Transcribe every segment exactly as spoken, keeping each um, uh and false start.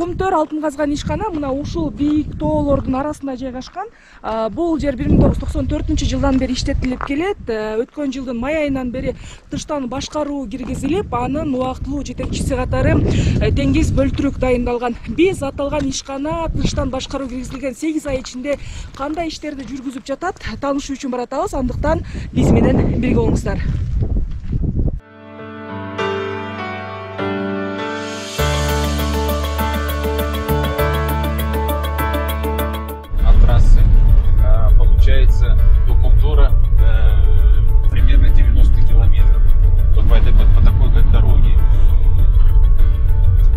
Кумтөр алтын казган ишкана мына ушул бийик тоолордун арасында жайгашкан. Бул жер бир миң тогуз жүз токсон төртүнчү жылдан бери иштетилип келет. Өткөн жылдын май айынан бери тыштан башкаруу киргизилип, анын убактылуу жетекчиси катары Теңиз Бөлтүрүк дайындалган. Биз аталган ишкана тыштан башкаруу киргизилген сегиз ай ичинде кандай иштерди жүргүзүп жатат таанышуу үчүн баратабыз. Андыктан биз менен бирге болуңуздар. Получается до Кумтора э, примерно девяносто километров вот по, этой, по такой как дороге.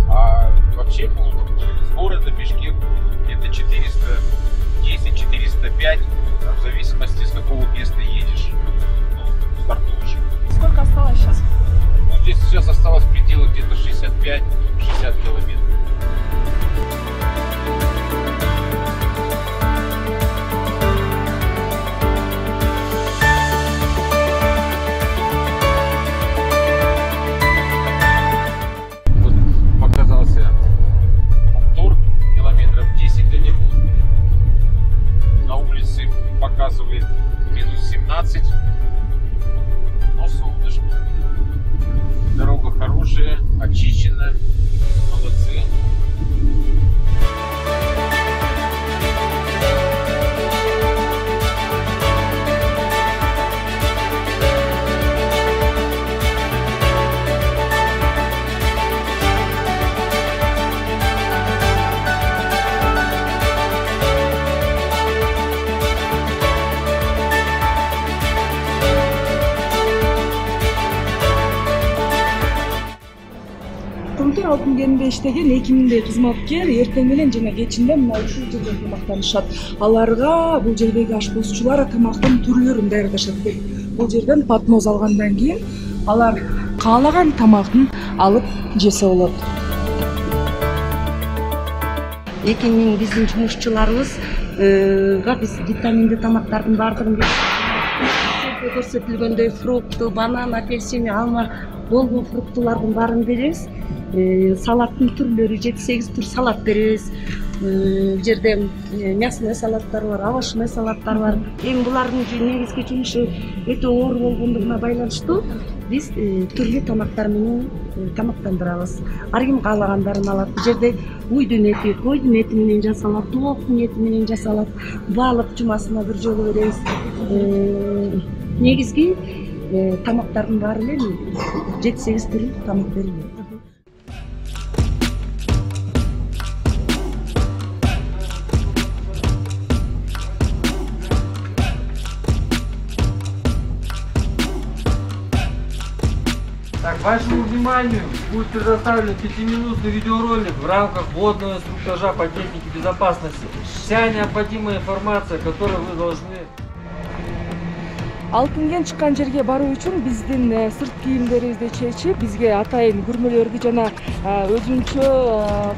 А вообще с города Бишкек где-то четыреста десять — четыреста пять, в зависимости с какого места едешь, ну, стартуешь. Сколько осталось сейчас? Ну, здесь сейчас осталось в пределах где-то шестьдесят пять — шестьдесят километров. Показывает минус семнадцать, но солнышко. Дорога хорошая, очищена, молодцы. Кумтөр алтын кенинде иштеген эки миңдей кызматкер эртең менен жана кечинде мына ушул жерде тамактанышат. Аларга бул жердеги ашпозчулар тамактын түрлөрүн даярдашат. Бул жерден подноз алгандан кийин алар каалаган тамактын алып жесе болот. эки миң биздин жумушчуларыбызга биз витаминдүү тамактардын баардыгын көрсөтүлгөндөй фрукты, банан, апельсин, алма болгон фруктулардын баарын беребиз. Салаттын түрлөрү жети сегиз түр салат беребиз. Бул жерде мясной салаттар бар, овощной салаттар бар. Эми булардын негизги жумушу өтө оор болгондугуна байланыштуу биз түрлүү тамактар менен тамактандырабыз. Ар ким каалагандарын алат. Бул жерде уйдун эти, койдун эти менен жасалат, тооктун эти менен жасалат. Баалык жумасына бир жолу беребиз. Негизги тамактардын баары эле жети сегиз түрлүү тамак берилет. Так, вашему вниманию будет предоставлен пятиминутный видеоролик в рамках вводного инструктажа по технике безопасности. Вся необходимая информация, которую вы должны... Алтын кен чыккан жерге баруу үчүн биздин сырт кийимдерибизди чечип, бизге атайын күрмөлөрдү жана өзүнчө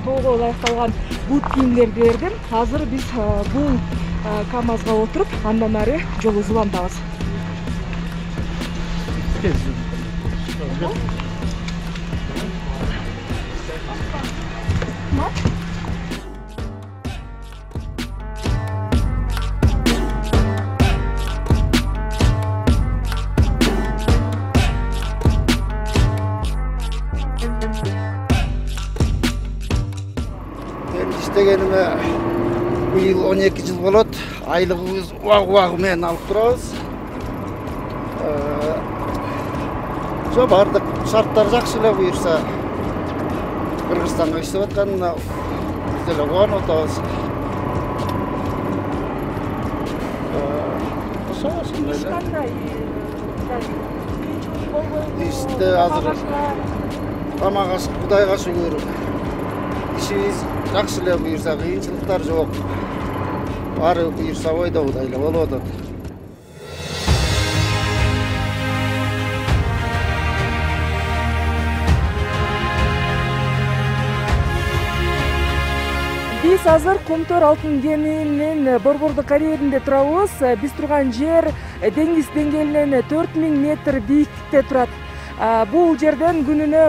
тоого ылайыкталган бут кийимдерди бердим. Азыр биз бул КАМАЗга отуруп, андан ары жолубузду улантабыз. Иштегениме быйыл он эки жыл болот. Айлыгыбыз убагы-убагы менен алып турабыз. Жо бардык шарттар жакшы эле буюрса. Кыргызстанга иштеп атканына биз деле кубанып атабыз. İşte азыр тамак аш Кудайга шүгүр. Ишибиз жакшы эле буюрса, кыйынчылыктар жок. Баары буюрса ойдогудай эле болуп атат. Биз азыр Кумтөр алтын кенинин борбордук карьеринде турабыз. Биз турган жер деңиз деңгээлинен төрт миң метр бийиктикте турат. Бул жерден күнүнө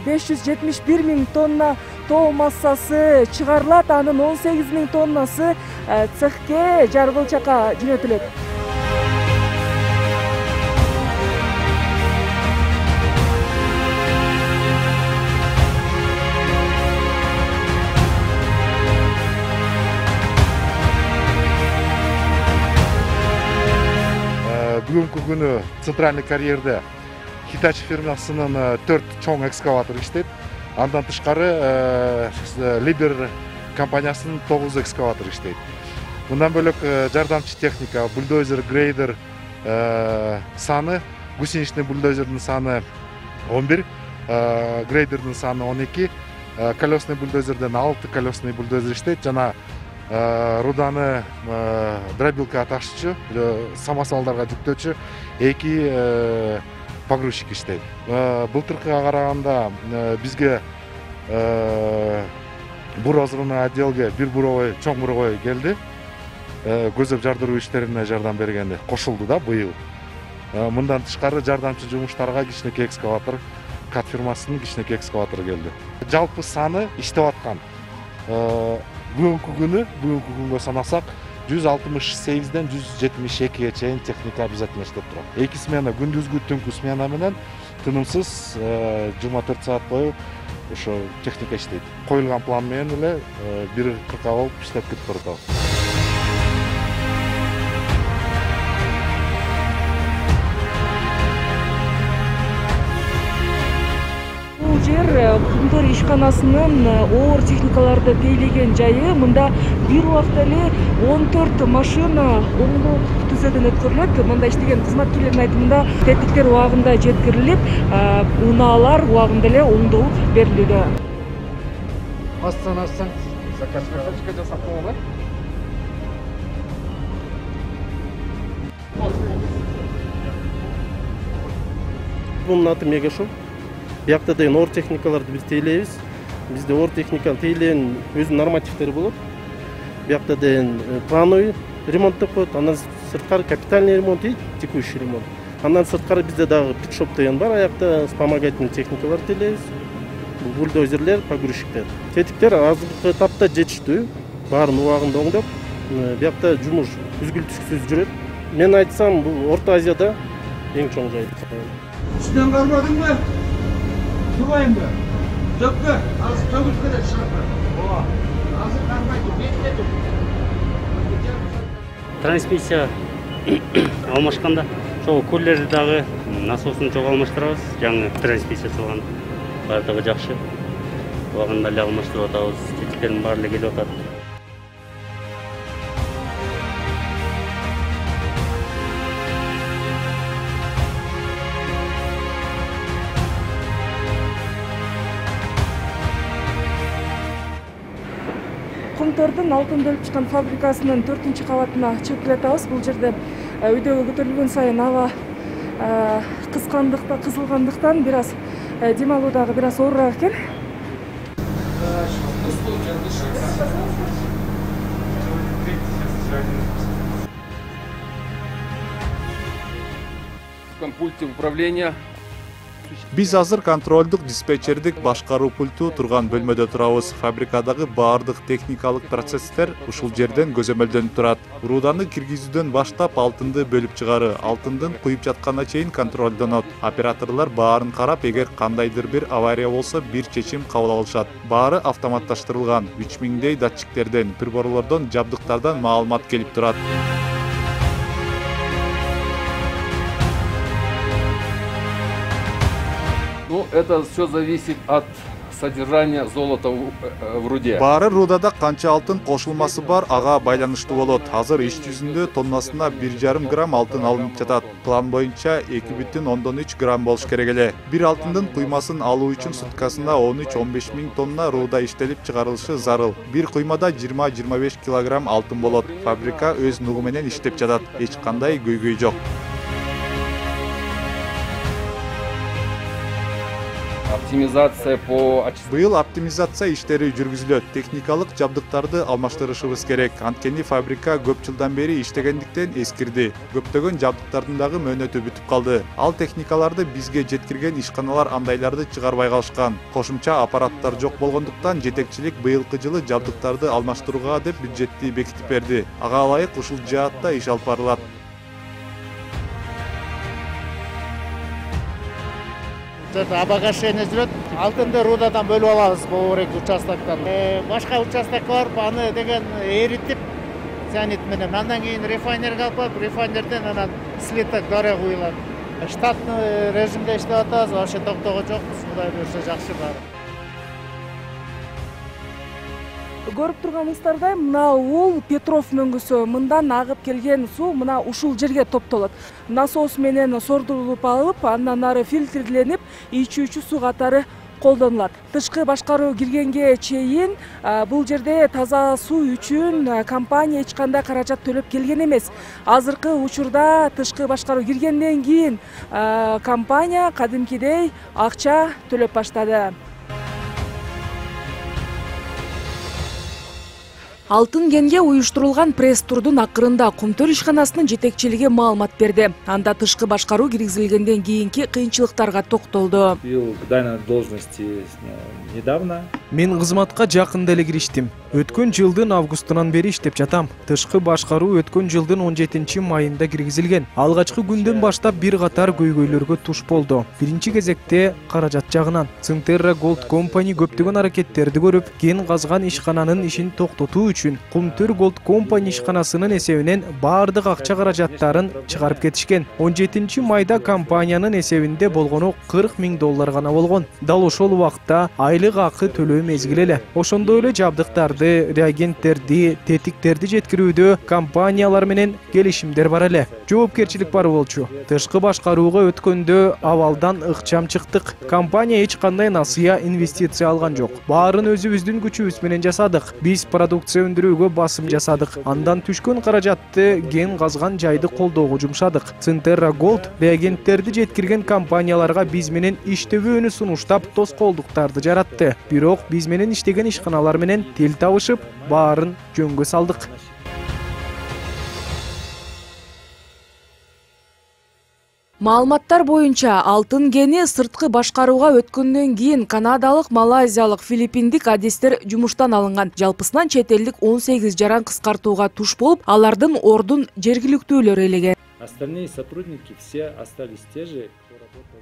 беш жүз жетимиш бир миң тонна тоо массасы чыгарылат. Анын он сегиз миң тоннасы цехке Жаргылчакка жөнөтүлөт. Бүгүнкү күнү центральный карьерде Hitachi фирмасынын төрт чоң экскаватор иштейт. Андан тышкары Liber компаниясынын тогуз экскаватор иштейт. Мындан бөлөк жардамчы техника, бульдозер, грейдер саны, гусеничный бульдозердин саны он бир, грейдердин саны он эки, колесный бульдозерден алты колесный бульдозер иштейт жана руданы дробилкага ташчу, самосвалдарга жүктөөчү эки погрузчик иштейт. Былтыркыга караганда бизге буразгыны отделге бир буровой, чоң буровой келди. Көзөп жардыруу иштерине жардам бергенде кошулду да быйыл. Мындан тышкары жардамчы жумуштарга кичинекей экскаватор, Кат фирмасынын кичинекей экскаватору келди. Жалпы саны иштеп аткан бүгүнкү күнү, бүгүнкү күнгө санасак, жүз алтымыш сегизден жүз жетимиш экиге чейин техника обязательно иштеп турат. Эки смена, күндүзгү түнкү смена менен тынымсыз жыйырма төрт саат бою ошо техника иштейт. Коюлган план менен эле бир кыркка болуп иштеп кетип баратабыз. Бул жер Кумтөр ишканасынын оор техникаларды тейлеген жайы. Мында бир убакта эле он төрт машина оңдоо түзөдөн өткөрүлөт. Мында иштеген кызматкерлердин айтымында тетиктер убагында жеткирилип, унаалар убагында эле оңдолуп берилүүдө. Астан-астан закачка жасап койгон. Bunun аты Мегашоу. Биякта деген оор техникаларды биз тейлейбиз. Бизде оор техниканы тейлеген өзүнүн нормативтери болот. Биякта деген плановый ремонт деп коет, андан сырткары капитальный ремонт и текущий ремонт. Андан сырткары бизде дагы питшоп деген бар, аякта вспомогательный техникалар тейлейбиз. Бульдозерлер, погрузчиктер. Тетиктер азыркы этапта жетиштүү, баарын убагында оңдоп, биякта жумуш үзгүл-түшкүсүз жүрөт. Мен айтсам, бул Орто Азияда эң чоң жай. Üstünden kalmadın mı? Durmayın mı? Dökme. Az tövüz kadar şartlar. Oha. Azı kalmaydı. Bekledim. Трансмиссия алмашканда ошол кулерди дагы насосын чогуу алмаштырабыз. Жаңы трансмиссия салган. Бардыгы жакшы. Убагында эле алмаштырып атабыз. Тетиктердин баары эле келип атат. Кумтөрдүн алтын бөлүп чыккан фабрикасынын төртүнчү кабатына чыгып келатабыз. Бул жерде үйдөгө көтөрүлгөн сайын аба кыскандыктан, кызылгандыктан бир аз дем алуу дагы бир аз оорураак экен. В пульте управления. Биз азыр контролдук диспетчердик башкаруу пульту турган бөлмөдө турабыз. Фабрикадагы баардык техникалык процесстер ушул жерден көзөмөлдөнүп турат. Руданы киргизүүдөн баштап алтынды бөлүп чыгары, алтындын куюп жатканына чейин контролдонот. Операторлор баарын карап, эгер кандайдыр бир авария болсо бир чечим кабыл алышат. Баары автоматташтырылган. үч миңдей датчиктерден, приборлордон, жабдыктардан маалымат келип турат. Ну, это все зависит от содержания золота в руде. Баары рудада канча алтын кошулмасы бар, ага байланыштуу болот. Азыр иш жүзүндө тоннасына бир жарым грамм алтын алынып жатат. План боюнча эки бүтүн ондон үч грамм болуш керек эле. Бир алтындын куймасын алуу үчүн суткасына он үч он беш миң тонна руда иштелип чыгарылышы зарыл. Бир куймада жыйырма жыйырма беш килограмм алтын болот. Фабрика өз нугу менен иштеп жатат. Эч кандай көйгөй жок. оптимизация по Быйыл оптимизация иштери жүргүзүлөт. Техникалык жабдыктарды алмаштырышыбыз керек. Анткени фабрика көп жылдан бери иштегендиктен эскирди. Көптөгөн жабдыктардын дагы мөөнөтү бүтүп калды. Ал техникаларды бизге жеткирген ишканалар андайларды чыгарбай калышкан. Кошумча аппараттар жок болгондуктан жетекчилик быйылкы жылы жабдыктарды алмаштырууга деп бюджетти бекитип берди. Ага ылайык ушул жаатта иш алып барылат. Обогащение жүрөт. Алтынды рудадан бөлүп алабыз бул эки участоктон. Башка участок бар, аны деген эритип, цианид менен андан кийин рефайнерге алып барып, рефайнерден анан слиток дарыга куюлат. Штатный режимде иштеп атабыз, вообще токтогон жокпуз. Кудай буюрса жакшы баары. Көрүп турганыңыздардай, мына ул Петров мөңгүсү. Мындан агып келген суу мына ушул жерге топтолот. Насос менен сордурулуп алып, андан ары фильтрленип, ичүүчү суу катары колдонулат. Тышкы башкаруу киргенге чейин бул жерде таза суу үчүн компания эч кандай каражат төлөп келген эмес. Азыркы учурда тышкы башкаруу киргенден кийин компания кадимкидей акча төлөп баштады. Алтын кенге уюштурулган пресс-турдун акырында Кумтөр ишканасынын жетекчилиги маалымат берди. Анда тышкы башкаруу киргизилгенден кийинки кыйынчылыктарга токтолду. Дана должности недавно. Мен кызматка жакында эле кириштим. Өткөн жылдын августунан бери иштеп жатам. Тышкы башкаруу өткөн жылдын он жетинчи майында киргизилген. Алгачкы күндөн баштап бир катар көйгөйлөргө туш болду. Биринчи кезекте каражат жагынан. Ценterra Gold Company көптөгөн аракеттерди көрүп, кен казган ишкананын ишин токтотуу үчүн Кумтөр Gold Company ишканасынын эсебинен баардык акча каражаттарын чыгарып кетишкен. он жетинчи майда компаниянын эсебинде болгону кырк миң доллар гана болгон. Дал ошол убакта айлык акы төлөө мезгили эле. Ошондой эле жабдыктарды, реагенттерди, тетиктерди жеткирүүдө компаниялар менен келишимдер бар эле. Жоопкерчилик бар болчу. Тышкы башкарууга өткөндө абалдан ыкчам чыктык. Компания эч кандай насыя инвестиция алган жок. Баарын өзүбүздүн күчүбүз менен жасадык. Биз продукция өндүрүүгө басым жасадык. Андан түшкөн каражатты кен казган жайды колдоого жумшадык. Ценterra Gold реагенттерди жеткирген компанияларга биз менен иштөбүүнү сунуштап тоскоолдуктарды жаратты. Бирок биз менен иштеген ишканалар менен тил табышып, баарын жөнгө салдык. Маалыматтар боюнча алтын кени сырткы башкарууга өткөндөн кийин канадалык, малайзиялык, филиппиндик адистер жумуштан алынган. Жалпысынан чет элдик он сегиз жаран кыскартууга туш болуп, алардын ордун жергиликтүүлөр ээлеген. Остальные сотрудники все остались те же.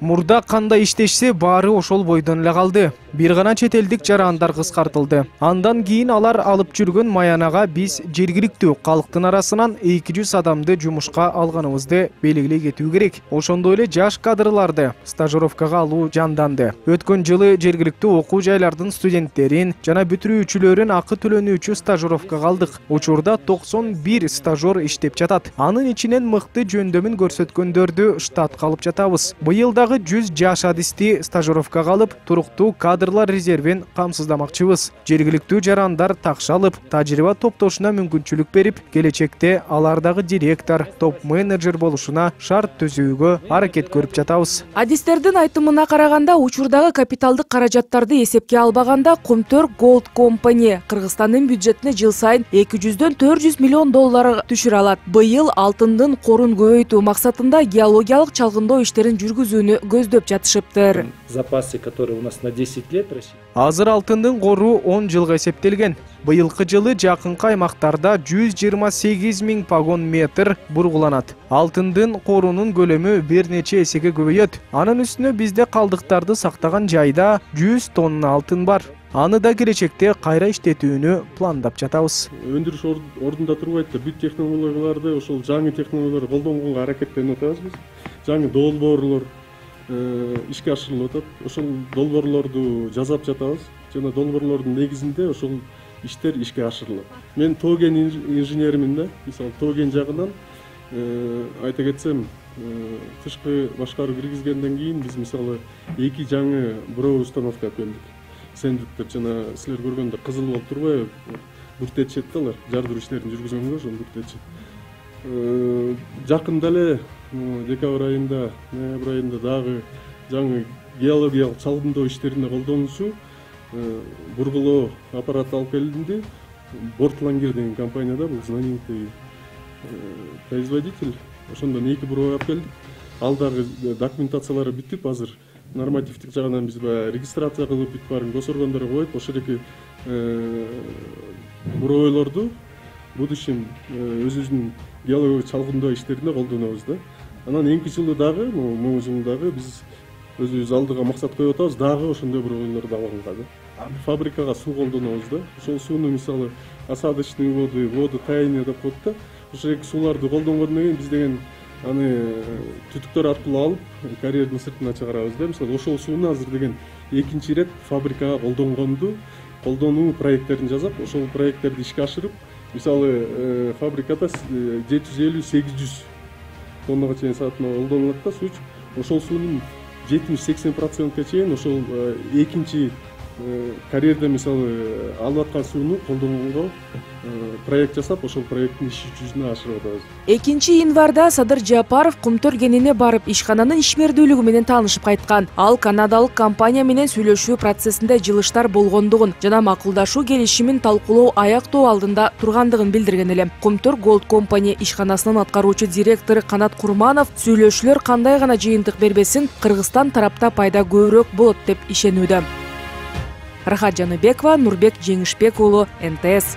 Мурда кандай иштешсе баары ошол бойдон эле калды. Бир гана чет элдик жарандар кыскартылды. Андан кийин алар алып жүргөн маянага биз жергиликтүү калктын арасынан эки жүз адамды жумушка алганыбызды белгилей кетүү керек. Ошондой эле жаш кадрларды стажировкага алуу жанданды. Өткөн жылы жергиликтүү окуу жайлардын студенттерин жана бүтүрүүчүлөрүн акы төлөнүүчү стажировкага алдык. Учурда токсон бир стажер иштеп жатат. Анын ичинен мыкты жөндөмүн көрсөткөндөрдү штатка алып жатабыз. Быйыл дагы жүз жаш адисти стажировкага алып, туруктуу кадрлар резервин камсыздамакчыбыз. Жергиликтүү жарандар такша алып, тажрыйба топтошуна мүмкүнчүлүк берип, келечекте алардагы директор, топ-менеджер болушуна шарт түзүүгө аракет көрүп жатабыз. Адистердин айтымына караганда, учурдагы капиталдык каражаттарды эсепке албаганда Кумтөр Gold Company Кыргызстандын бюджетине жыл сайын эки жүздөн төрт жүз миллион доллар түшүрө алат. Быйыл алтындын корун көбөйтүү максатында геологиялык чалгындоо иштерин жүргүзүүнү көздөп жатышыптыр. Запасы, которые у нас на десять лет Россия. Азыр алтындын кору он жылга эсептелген. Быйылкы жылы жакынкы аймактарда жүз жыйырма сегиз миң погон метр бургуланат. Алтындын корунун көлөмү бир нече эсеге көбөйөт. Анын үстүнө бизде калдыктарды сактаган жайда жүз тонна алтын бар. Аны да келечекте кайра иштетүүнү пландап жатабыз. Өндүрүш ордунда турбайт, бүт технологияларды, ошол жаңы технологияларды колдонгонго аракеттенип атабыз биз. Жаңы долбоорлор ишке ашырылып атат. Ошол долбоорлорду жасап жатабыз. Жана долбоорлордун негизинде ошол иштер ишке ашырылат. Мен тоген инженеримин да. Мисалы тоген жагынан айта кетсем, тышкы башкаруу киргизгенден кийин биз мисалы эки жаңы буровой установка келдик. Сендиктер жана силер көргөндө кызыл болуп турбайбы? Бүртетишет да алар, жардыруу иштерин жүргүзгөнгө ошол бүртетишет. Жакында эле декабрь айында, ноябрь айында дагы жаңы геологиялык чалгындоо иштерине колдонуучу бургулоо аппараты алып келинди. Бортлангер деген компанияда, бул знаменитый производитель. Ошондон эки буруу алып келдик. Ал дагы документациялары бүтүп, азыр нормативдик жагынан биз баягы регистрация кылып бүт баарын госоргандарға коюп, ошол эки буроолорду будущем өзүбүздүн геологиялык чалгындоо иштерине колдонобуз да. Анан эки жылы дагы, могу жылы дагы биз өзүбүз алдыга максат коюп атабыз, дагы ошондой буроолорду алганга да. Фабрикага суу колдонобуз да. Ошол сууну мисалы осадочный воды, воду таяние деп коет да. Ошол эки сууларды колдонгондон кийин биз деген аны түтүктөр аркылуу алып, карьердин сыртына чыгарабыз да. Мисалы ошол сууну азыр деген экинчи ирет фабрикага колдонгонду, колдонуу проекттерин жасап, ошол проекттерди ишке ашырып, мисалы фабрикада жети жүз элүү сегиз жүз тоннага чейин саатына колдонулат да суу. Ошол суунун жетимиш сексен процентке чейин ошол экинчи карьерде мисалы алып аткан сууну колдонгонго проект жасап, ошол проекттин иш жүзүнө ашырып атабыз. экинчи январда Садыр Жапаров Кумтөр кенине барып ишкананын ишмердүүлүгү менен таанышып кайткан. Ал канадалык компания менен сүйлөшүү процессинде жылыштар болгондугун жана макулдашуу келишимин талкуулоо аяктоо алдында тургандыгын билдирген эле. Кумтөр Gold Company ишканасынын аткаруучу директору Канат Курманов сүйлөшүүлөр кандай гана жыйынтык бербесин, Кыргызстан тарапта пайда көбүрөөк болот деп ишенүүдө. Рахат Жаныбекова, Нурбек Жеңишбек уулу, эн тэ эс.